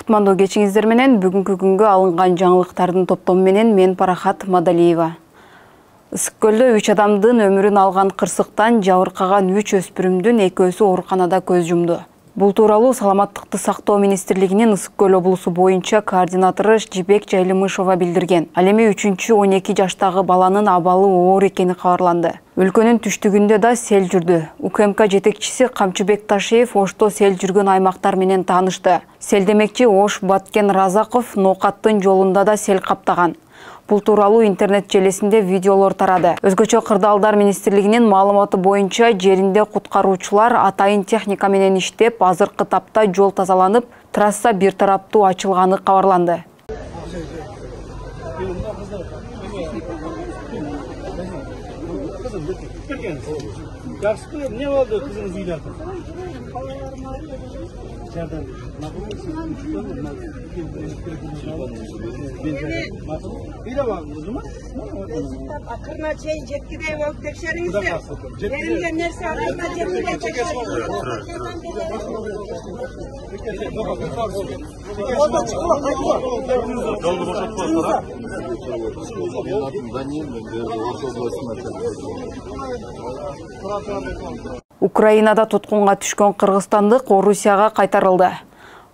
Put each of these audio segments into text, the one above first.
Кутмандуу кечиңиздер менен бүгүнкү күнгө алынган жаңылыктардын топтому менен мен Парахат Мадалиева. Ысык көлдө 3 адамдын өмүрүн алган кырсыктан жабыркаган 3 өспүрүмдүн экөөсү ооруканада көз жумду. Бул тууралуу Саламаттыкты сактоо министрлигинин Ысык көл облусу боюнча координатору Жибек Жайлымышева билдирген. Ал эми 3-12 жаштагы баланын абалы оор экени кабарланды. Өлкөнүн түштүгүндө да сел жүрдү. УКМК жетекчиси Камчыбек Ташиев Ошто сел жүргөн аймактар менен таанышты. Сел демекчи Ош Баткен Разаков Ноокаттын жолунда да сел каптаган. Бул тууралуу интернет желесинде видеолор тарады. Өзгөчө Кырдаалдар министрлигинин маалыматы боюнча жеринде куткаруучулар атайын техника менен иштеп, азыркы тапта жол тазаланып, трасса бир тараптуу ачылганы кабарланды. Не болду кызыңыз үйдө? Акырына чейин жеткидей болуп текшериңиздер. Берилген нерсе акырына жеткидей текшериңиздер. Украинада туткунга түшкөн кыргызстандык Орусияга кайтарылды.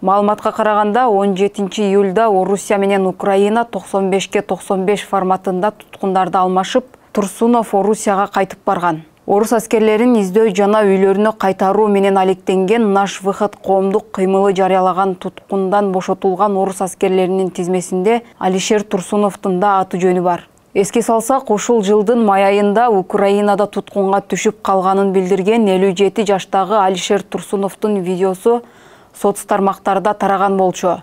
Маалыматка караганда 17 июлда Орусия менен Украина 95-95 форматында туткундарды алмашып, Турсунов Орусияга кайтып барган. Орус аскерлерин издөө жана үйлөрүнө кайтаруу менен алектенген Наш выход коомдук кыймылы жарыялаган туткундан бошотулган орус аскерлеринин тизмесинде Алишер Турсуновдун да аты жөнү бар. Эске салсак, ушул жылдын май айында Украинада туткунга түшүп калганын билдирген 57 жаштагы Алишер Турсуновдун видеосу соц тармактарда тараган болчу.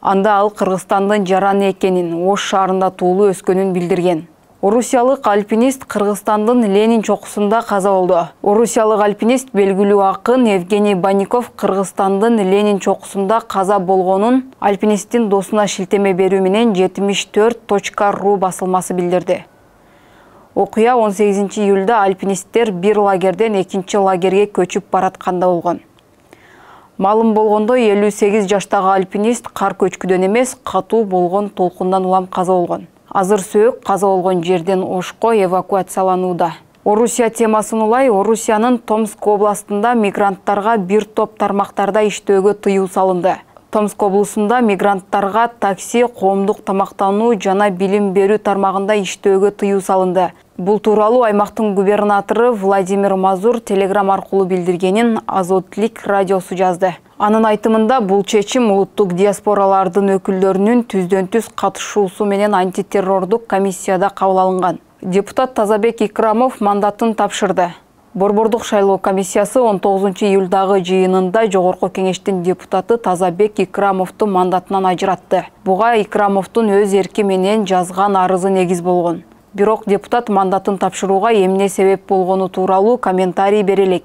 Анда ал Кыргызстандын жараны экенин, Ош шаарында туулуу өскөнүн билдирген. Орусиялык альпинист Кыргызстандын Ленин чокусунда каза болду. Орусиялык альпинист белгилүү акын Евгений Банников Кыргызстандын Ленин чокусунда каза болгонун альпинисттин досуна шилтеме берүү менен 74.ru басылмасы билдирди. Окуя 18 июлда альпинисттер бир лагерден экинчи лагерге көчүп баратканда болгон. Маалым болгондой 58 жаштагы альпинист кар көчкүдөн эмес, катуу болгон толкундан улам каза болгон. Азыр сөөк каза болгон жерден Ошко эвакуацияланууда. Орусия темасын улай, Орусиянын Томск областында мигранттарга бир топ тармактарда иштөөгө тыюу салынды. Томск облусунда мигранттарга такси, коомдук тамактануу жана билим берүү тармагында иштөөгө тыюу салынды. Бул тууралуу аймактын губернатору Владимир Мазур телеграм аркылуу билдиргенин Азотлик радиосу жазды. Анын айтымында бул чечим улуттук диаспоралардын өкүлдөрүнүн түздөн-түз катышуусу менен антитеррордук комиссияда кабыл алынган. Депутат Тазабек Икрамов мандатын тапшырды. Борбордук шайлоо комиссиясы 19 июлдагы жыйынында Жогорку кеңештин депутаты Тазабек Икрамовду мандатынан ажыратты. Буга Икрамовдун өз эрки менен жазган арызы негиз болгон. Бирок депутат мандатын тапшырууга эмне себеп болгону тууралуу комментарий бере элек.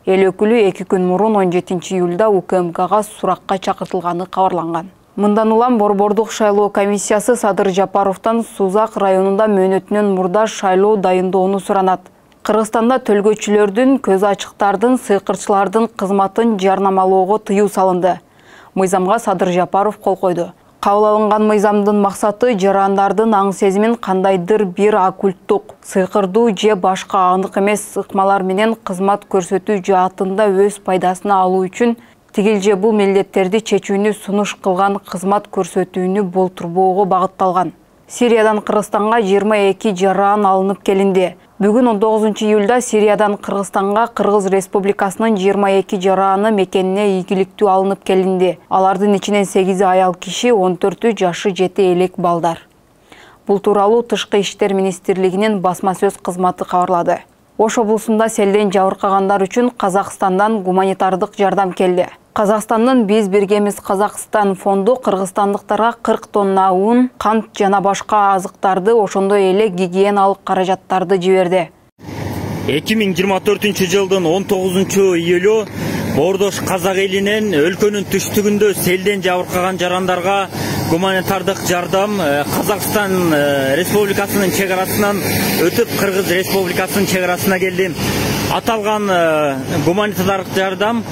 Эл өкүлү 2 күн мурун 17 июлда УКМКга суракка чакыртылганы кабарланган. Мындан улам Борбордук шайлоо комиссиясы Садыр Жапаровдон Сузак районунда мөөнөтүнөн мурда шайлоо дайындоону суранат. Кыргызстанда төлгөчүлөрдүн, көз ачыктардын, сыйкырчылардын кызматын жарнамалоого тыюу салынды. Мыйзамга Садыр Жапаров кол койду. Кабыл алынган мыйзамдын максаты жарандардын аң сезимин кандайдыр бир оккульттук, сыйкырдуу же башка анык эмес ыкмалар менен кызмат көрсөтүү жаатында өз пайдасына алуу үчүн тигил же бул милдеттерди чечүүнү сунуш кылган кызмат көрсөтүүнү болтурбоого багытталган. Сириядан Кыргызстанга 22 жаран алынып келинди. Бүгүн 19 июлда Сириядан Кыргызстанга Кыргыз Республикасынын 22 жараны мекенине ийгиликтүү алынып келинди. Алардын ичинен 8 аял киши, 14 жашы жете элек балдар. Бул тууралуу Тышкы иштер министрлигинин басма сөз кызматы кабарлады. Ош облусунда селден жабыркагандар үчүн Казакстандан гуманитардык жардам келди. Казакстандын Биз биргемиз Казакстан фонду кыргызстандыктарга 40 тонна un, кант жана башка азыктарды, ошондой эле гигиеналык каражаттарды жиберди. 2024 жылдын 19 июлу Бордош казак элинен өлкөнүн түштүгүндө селден жабыркаган жарандарга гуманитардык жардам Казакстан Республикасынын чегарасынан өтүп Кыргыз Республикасынын чегарасына келди. Аталган гуманитардык жардам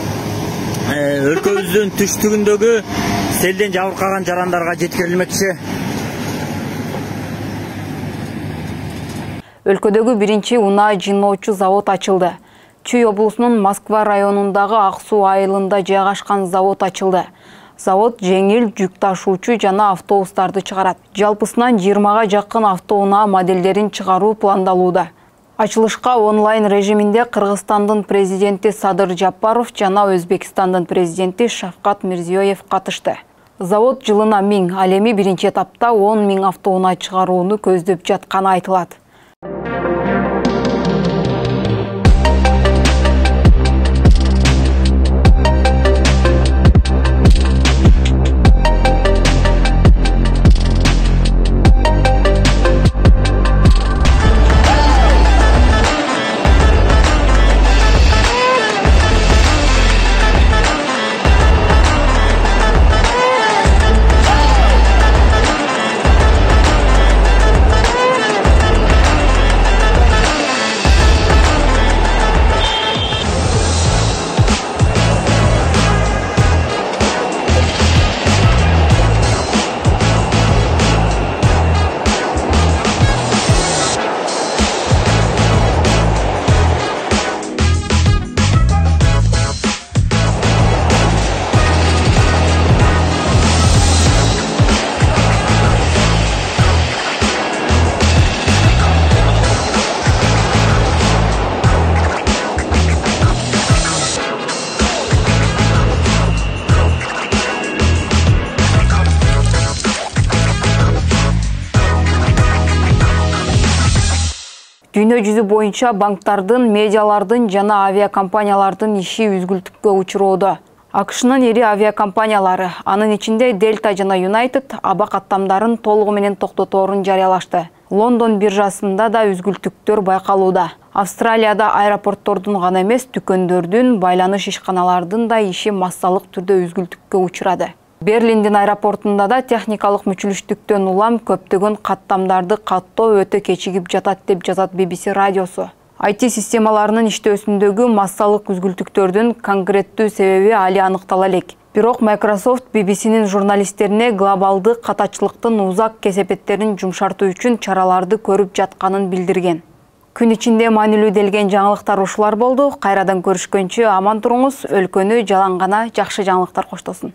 өлкөбүздүн түштүгүндөгү селден жабыркаган жарандарга жеткирилмекчи. Өлкөдөгү биринчи унаа жыйноочу завод ачылды. Чүй облусунун Москва районундагы Ак суу айылында жайгашкан завод ачылды. Завод жеңил жүк ташуучу жана автобустарды чыгарат. Жалпысынан 20га жакын автоунаа моделдерин чыгаруу пландалууда. Ачылышка онлайн режиминде Кыргызстандын президенти Садыр Жапаров жана Өзбекстандын президенти Шавкат Мирзиёев катышты. Завод жылына 1000, ал эми биринчи этапта 10 000 автоунаа чыгарууну көздөп жатканы айтылат. Дүйнө жүзү боюнча банктардын, медиалардын жана авиакомпаниялардын иши үзгүлтүккө учуроодо. АКШнын ири авиакомпаниялары, анын ичинде Delta жана United, аба каттамдарын толугу менен токтоторун жарыялашты. Лондон биржасында да үзгүлтүктөр байкалууда. Австралияда аэропорттордун гана эмес, дүкөндөрдүн, байланыш ишканалардын да иши массалык түрдө үзгүлтүккө учурады. Берлиндин аэропортунда да техникалык мүчүлүштүктөн улам көптөгөн каттамдарды каттоо өтө кечигип жатат деп жазат BBC радиосу. IT системаларынын иштөөсүндөгү массалык үзгүлтүктөрдүн конкреттүү себеби али аныктала элек. Бирок Microsoft BBC'нин журналисттерине глобалдык катачылыктын узак кесепеттерин жумшартуу үчүн чараларды көрүп жатканын билдирген. Күн ичинде маанилүү делген жаңылыктар ушулар болду. Кайрадан көрүшкөнчө аман туруңуз, өлкөнү жалан гана жакшы жаңылыктар коштосун.